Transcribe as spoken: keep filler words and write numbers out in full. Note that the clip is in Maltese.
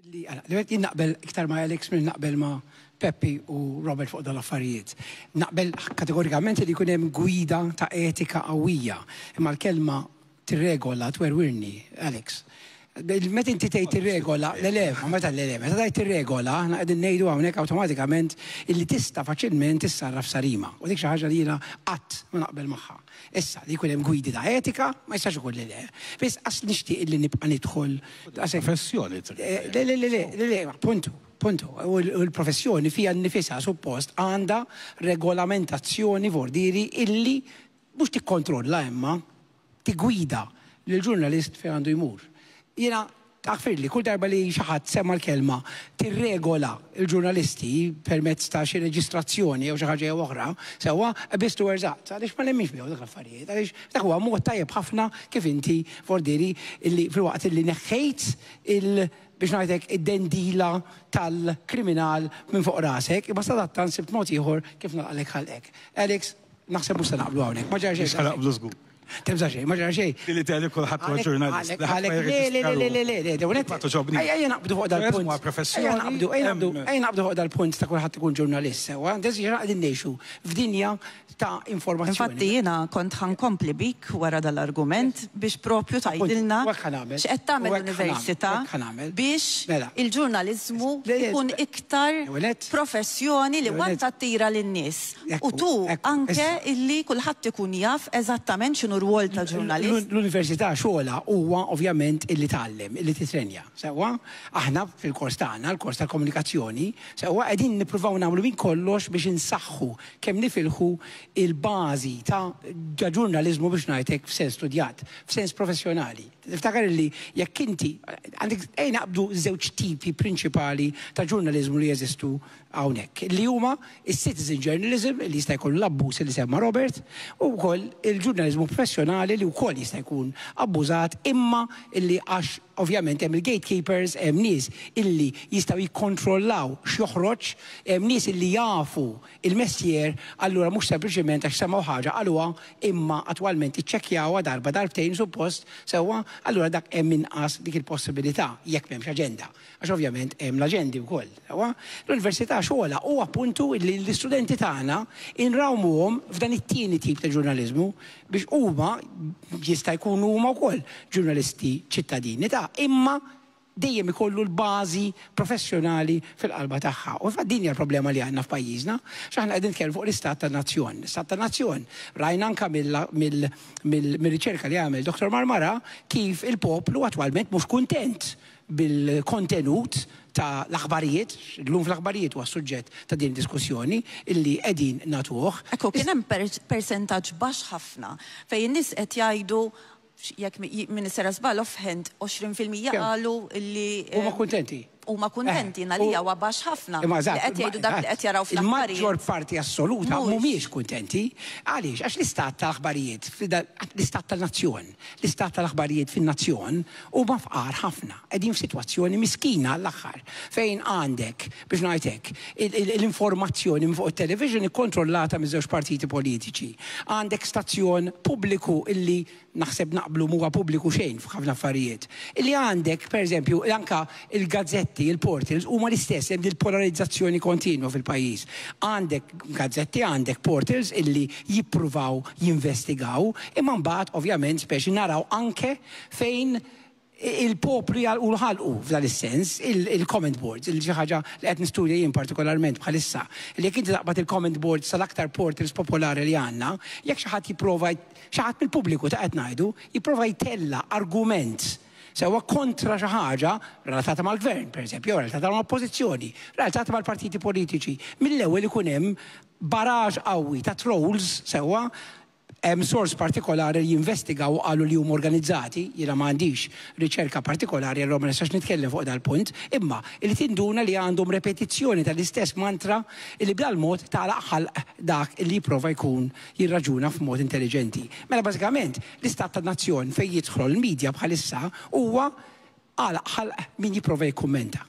Li jien naqbel iktar ma' Alex minn naqbel ma' Peppi u Robert fuq dal-affarijiet. Naqbel kategorikament li jkun hemm gwida ta' etika qawwija. Imma l-kelma tirregola twerwirni, Alex. Meta inti tgħid tirregola, le le, ma meta le le, meta tgħid tirregola, aħna qegħdin ngħidu hawnhekk awtomatikament illi tista' faċilment tissarraf sarima. U dik xi ħaġa li jiena qatt ma naqbel magħha. Issa li jkun hemm gwidi ta' etika, ma jistax ikun li le. Biss qas nixtieq illi nibqa' nidħol Professjoni. Le le le le le, appuntu. Puntu, u l-professjoni fija nnifisha suppost għandha regolamentazzjoni vordiri illi mhux tikkontrolla imma tigwida lill-ġurnalist fejn għandu jmur. Jiena taħfirli, kull darba li xi ħadd semma l-kelma tirregola l-ġurnalisti permezz ta' xi reġistrazzjoni jew xi ħaġa jew oħra, sewwa biss tu eżatt, għaliex ma nemminx bihom dak l-affarijiet, għaliex dak huwa mod tajjeb ħafna kif inti vordiri illi filwaqt illi neħħejt il- biex ngħidlek id-dendila tal-kriminal minn fuq rasek, imma sadattant sibt mod ieħor kif nagħlaqlek ħalqek. Alex, naħseb mhux se naqblu hawnhekk, ma ġara xejn. Mhux naqblu żgur. Tibża' xejn, ma ġara xejn. Li tgħid kulħadd huwa ġurnalist. Għalek, le, le, le, le, le, le, le, ejja naqbdu fuq dal-punt. Professjoni. Ejja naqbdu, ejja naqbdu, ejja naqbdu fuq dal-punt ta' kulħadd ikun ġurnalist, sewwa. Deżi qegħdin ngħixu f'dinja ta' informazzjoni. Infatti jiena kont ħankompli bik wara dal-argument biex propju tgħidilna x'qed tagħmel l-università biex il-ġurnaliżmu ikun iktar professjoni li waqt tattira lin-nies. U tu anke illi kulħadd ikun jaf eżattament x'inhu r-rwol ta' ġurnalist. L-università xogħolha huwa ovvjament illi tgħallem, illi titrenja. Sewwa, aħna fil-kors tagħna, l-kors tal-komunikazzjoni, sewwa qegħdin nippruvaw nagħmlu minn kollox biex insaħħu kemm nifilħu il-bażi ta' ġurnaliżmu biex ngħidlek f'sens studjat, f'sens professjonali. Tiftakar li jekk inti għandek ejja naqbdu żewġ tipi prinċipali ta' ġurnaliżmu li jeżistu hawnhekk, li huma is-citizen journalism li jista' jkun l-abbuż li semma Robert, u wkoll il-ġurnaliżmu professjonali li wkoll jista' jkun abbużat, imma illi għax ovvjament hemm il-gatekeepers, hemm nies illi jistgħu jikkontrollaw x'joħroġ, hemm nies illi jafu il-mestier, allura mhux sempliċiment għax semgħu ħaġa qaluha, imma attwalment iċċekkjawha darba darbtejn suppost sewwa, allura dak hemm inqas dik il-possibilità jekk m'hemmx aġenda. Għax ovvjament hemm l-aġendi wkoll. Sewwa, l-università xogħolha huwa appuntu li l-istudenti tagħna inrawmuhom f'dan it-tieni tip ta' ġurnaliżmu biex huma jista' jkunu huma wkoll ġurnalisti ċittadini ta' imma dejjem ikollu l-bażi professjonali fil-qalba tagħha. U fa' din hija l-problema li għandna f'pajjiżna, x'aħna qegħdin nitkellmu fuq l-istat tan-nazzjon. L-istat tan-nazzjon rajna anke mill-riċerka li għamel Doktor Marmara kif il-poplu attwalment mhux kuntent bil-kontenut ta' l-aħbarijiet, llum fl-aħbarijiet huwa suġġett ta' din diskussjoni illi qegħdin nagħtuh. Ekku, kien hemm persentaġġ baxx ħafna fejn in-nies qed jgħidu jekk min sera żball offhand għoxrin fil-mija qalu li huma kuntenti. Huma kuntenti, għalija huwa baxx ħafna. Imma eżatt, Li qed jgħidu dak li qed jaraw fl-aħbarijiet. Il-maġġor parti assoluta mhumiex kuntenti. Għaliex? Għax l-istat tal-aħbarijiet, l-istat tal-nazzjon, l-istat tal-aħbarijiet fin-nazzjon huma fqar ħafna. Qegħdin f'sitwazzjoni miskina għall-aħħar fejn għandek, biex ngħid hekk, l-informazzjoni minn fuq it-television ikkontrollata miż-żewġ partiti politiċi. Għandek stazzjon pubbliku illi naħseb naqblu mhuwa pubbliku xejn f'ħafna affarijiet. Illi għandek, pereżempju, anka il-gazzetti, il-portals, huma l-istess, hemm il-polarizzazzjoni kontinwa fil-pajjiż. Għandek gazzetti, għandek portals illi jippruvaw jinvestigaw, imma mbagħad ovvjament speċi naraw anke fejn il-poplu jgħalqu l-ħalqu f'dan is-sens, il-comment boards, il xi ħaġa li qed nistudja jien partikolarment bħalissa. Li jekk inti taqbad il-comment boards tal-aktar portals popolari li għandna, jekk xi ħadd jipprova, xi ħadd mill-pubbliku ta' qed ngħidu, jipprova jtella argument sewwa kontra xi ħaġa relatata mal-gvern, pereżempju, jew relatata mal-oppożizzjoni, relatata mal-partiti politiċi. Mill-ewwel ikun hemm baraġ qawwi ta' trolls sewwa, hemm sors partikolari li jinvestigaw u qalu li huma organizzati, jiena ma għandix riċerka partikolari, allura ma nistax nitkellem fuq dal-punt, imma li tinduna li għandhom repetizzjoni tal-istess mantra li b'dal-mod tagħlaq ħalq dak li jipprova jkun jirraġuna f'mod intelligenti. Mela bażikament l-istat tan-nazzjon fejn jidħol l-medja bħalissa huwa għalaq ħalq min jipprova jikkummenta.